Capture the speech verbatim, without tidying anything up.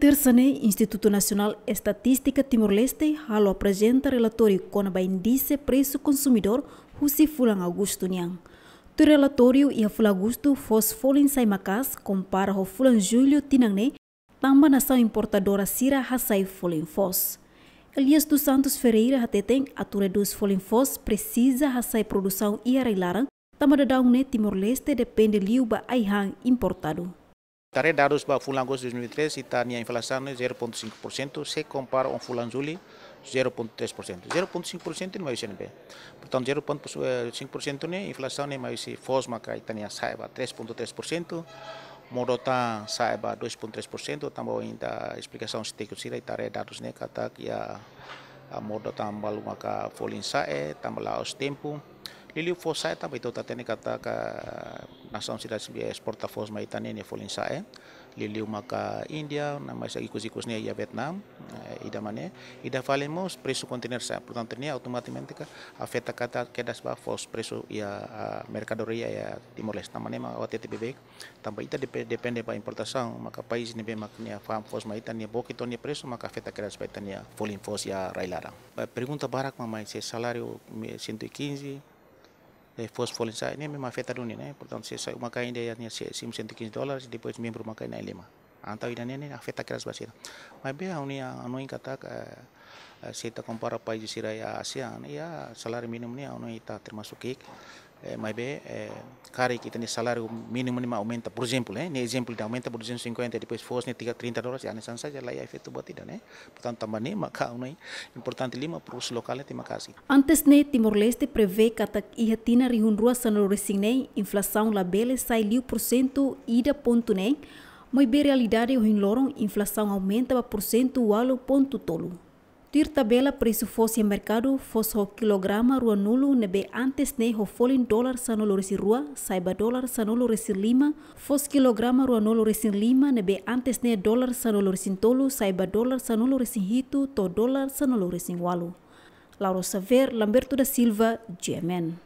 Tersa ne'e, Institutu Nasionál Estatístika Timor-Leste halo aprezenta relatóriu kona-ba índise presu konsumidór husi fulan Agostu nian. Tuir relatóriu, iha fulan Agostu foos folin sa'e maka'as kompara ho fulan Jullu tinan ne'e, tanba nasaun importadora sira hasai folin foos. Elias dos Santos Ferreira hateten, atu redús folin foos presiza hasai produsaun iha rai-laran, tanba daudaun ne'e Timor-Leste depende liu ba ai-han importadu. Ita haree dadus ba fulan Agostu dois mil e vinte e três, ita-nia inflasaun ne'e zero ponto cinco por cento, se kompara ho fulan Jullu, zero ponto três por cento. Zero ponto cinco por cento ne'e mai husi ne'ebé? Portantu, zero ponto cinco por cento ne'e inflasaun ne'e mai husi foos maka ita-nia sa'e ba três ponto três por cento, modo-tan sa'e ba dois ponto três por cento, tanba ohin ita esplikasaun husi tékniku sira, ita haree dadus ne'e katak iha, ah, modo-tan balu maka folin sa'e, tanba la'ós tempu. Liuliu foos sa'e tanba ita hatene katak nasaun sira ne'ebé esporta foos mai ita-nia ne'e folin sa'e. Liuliu maka Índia, no mós ikus-ikus ne'e iha Vietnam, eh, ida mak ne'e, ida fali mós presu konteiner sa'e. Portantu, ne'e automatikamente ke afeta katak kedas ba foos presu iha, ah, merkadoria iha Timor-Leste. Tanba ne'e mak ha'u hatete beibeik, tanba ita depe-, depende ba importasaun, maka país ne'ebé mak nia fa'an foos mai ita, nia book tiha ona nia presu, maka afeta kedas ba ita-nia folin foos iha rai-laran. Eh, pergunta barak mak mai, se saláriu me-, cento e quinze, eh, foos folin sa'e, ne'e memang afeta duni, ne'e? Portantu, se sa'e uma-kain ida iha nia se-, simu cento e quinze dólares, depois membru uma-kain na'in-lima. Entaun ida-ne'e ne'e afeta kedas ba sira. Maibé ha'u-nia hanoin katak, eh, eh, se ita kompara país sira iha ASEAN, iha saláriu mínimu ne'e ha'u hanoin ita termasuk ki'ik. Eh, maibé, eh, karik ita-nia saláriu mínimu ne'e mak aumenta, por ezemplu, eh, ne'e ezemplu ida aumenta, por duzentos e cinquenta, depois foos ne'e tiga, trinta dólares, ya, ne'e hanesan saja, la iha efeitu buat ida, ne'e? Portantu, tanba ne'e maka ha'u hanoin importante liu mak produtu lokál ne'e tenke maka'as. Antes ne'e, Timor-Leste prevee katak iha tinan rihun rua sanulu-resin-neen inflasaun labele sai liu porsentu ida pontu neen, maibé realidade ohin loron inflasaun aumenta ba porsentu ualu pontu tolu. Tuir tabela presu foos iha merkadu, foos ho kilograma ruanulu ne'ebé antes ne'e ho folin dolar sanulu-resin-rua, sa'e ba dolar sanulu-resin-lima, foos kilograma ruanulu-resin-lima ne'ebé antes ne'e dolar sanulu-resin-tolu, sa'e ba dolar sanulu-resin-hitu, to'o dolar sanulu-resin-ualu. Laura Xavier, Lamberto da Silva, G M N.